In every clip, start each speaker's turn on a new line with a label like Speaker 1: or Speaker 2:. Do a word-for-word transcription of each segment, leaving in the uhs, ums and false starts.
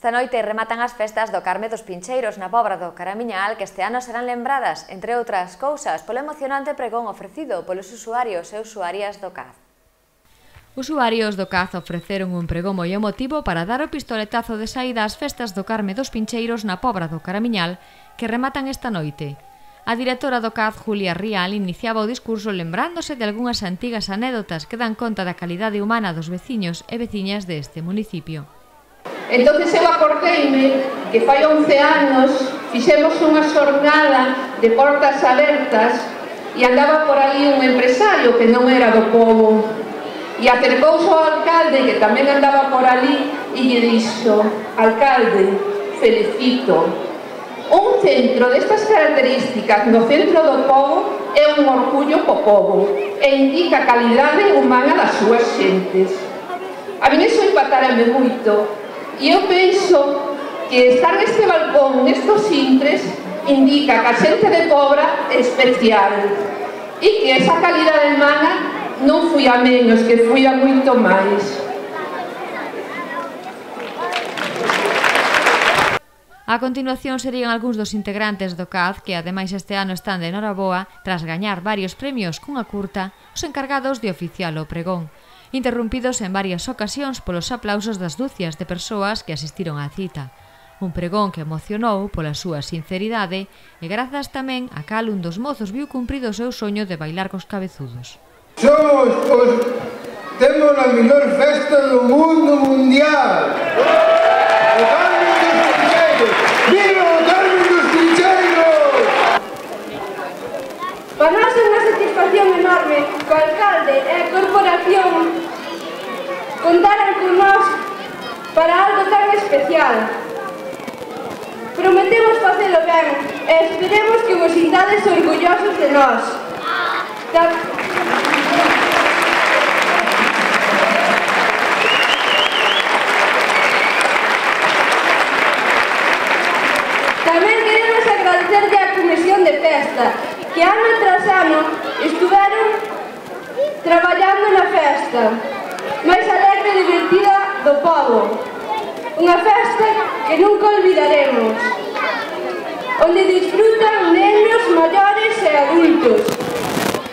Speaker 1: Esta noite rematan as festas do Carme dos Pincheiros na Pobra do Caramiñal, que este ano serán lembradas, entre outras cousas, polo emocionante pregón ofrecido polos usuarios e usuarias do C A Z. Usuarios do C A Z ofreceron un pregón moi emotivo para dar o pistoletazo de saída ás festas do Carme dos Pincheiros na Pobra do Caramiñal, que rematan esta noite. A directora do C A Z, Julia Rial, iniciaba o discurso lembrándose de algunhas antigas anécdotas que dan conta da calidade humana dos veciños e veciñas deste municipio.
Speaker 2: Entonces eu acordeime que fai once anos fixemos unha xornada de portas abertas e andaba por ali un empresario que non era do pobo e acercouse ao alcalde que tamén andaba por ali e lle dixo: alcalde, felicito, un centro destas características no centro do pobo é un orgullo co pobo e indica a calidade humana das súas xentes. A mí iso impactárame moito. E eu penso que estar neste balcón, nestos intres, indica que a xente de Pobra é especial e que esa calidade humana non foi a menos, que foi a moito máis.
Speaker 1: A continuación serían algúns dos integrantes do C A Z que ademais este ano están de noraboa tras gañar varios premios cunha curta, os encargados de oficiar o pregón, interrumpidos en varias ocasións polos aplausos das ducias de persoas que asistiron á cita. Un pregón que emocionou pola súa sinceridade e grazas tamén a cal un dos mozos viu cumprido o seu soño de bailar cos cabezudos.
Speaker 3: Somos os... temos a mellor festa do mundo mundial! O Carme dos Pincheiros! Viva o Carme dos Pincheiros!
Speaker 4: Para nós é unha satisfacción enorme que o alcalde e a corporación contaran con nós para algo tan especial. Prometemos facelo ben e esperemos que vos sintades orgullosos de nós. Tamén queremos agradecerlle á Comisión de Festa, que ano tras ano estuveron traballando na festa máis alegre e divertida do pobo. Unha festa que nunca olvidaremos, onde disfrutan nenos, maiores e adultos.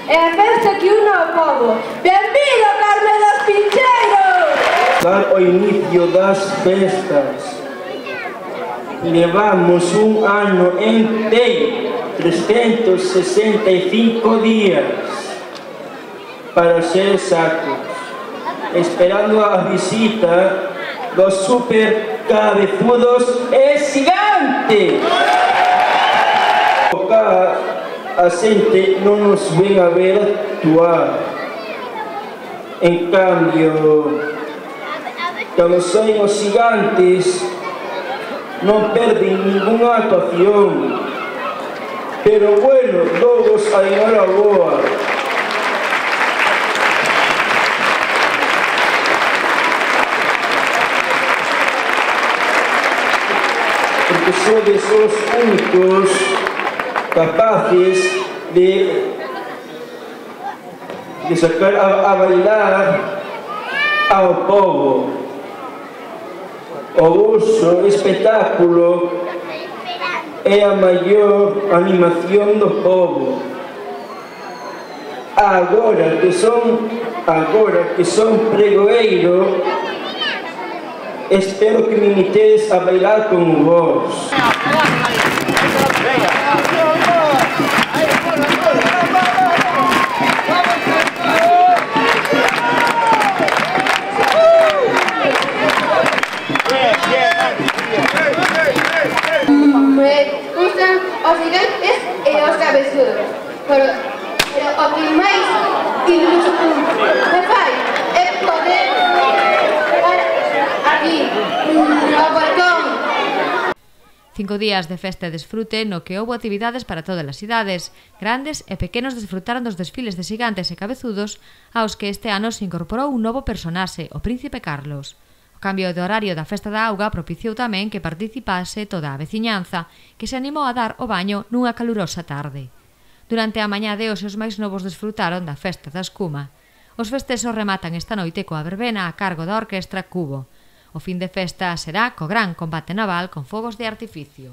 Speaker 4: É a festa que une ao pobo. Benvido, Carme dos Pincheiros!
Speaker 5: Dar o inicio das festas. Levamos un ano inteiro, trescentos sesenta e cinco días, para ser exactos, esperando a visita dos super cabezudos e gigantes. A xente non nos ven a ver actuar. En cambio, cando saen os gigantes, non perden ninguna actuación. Pero bueno, todos a enhoraboa. Porque sodes os únicos capaces de, de sacar a, a bailar ao povo. O vosso espectáculo é a maior animación do povo. Agora que son, agora que son pregoeiro, espero que me imitedes a bailar con vos.
Speaker 4: Os gigantes e os cabezudos, pero, pero o que máis iluso me fai é poder aquí, no balcón.
Speaker 1: Cinco días de festa e desfrute no que houbo actividades para todas as idades. Grandes e pequenos desfrutaron dos desfiles de xigantes e cabezudos aos que este ano se incorporou un novo personaxe, o Príncipe Carlos. O cambio de horario da Festa da Auga propiciou tamén que participase toda a veciñanza, que se animou a dar o baño nunha calurosa tarde. Durante a mañá de hoxe os máis novos desfrutaron da Festa da Escuma. Os festexos rematan esta noite coa verbena a cargo da Orquestra Cubo. O fin de festa será co gran combate naval con fogos de artificio.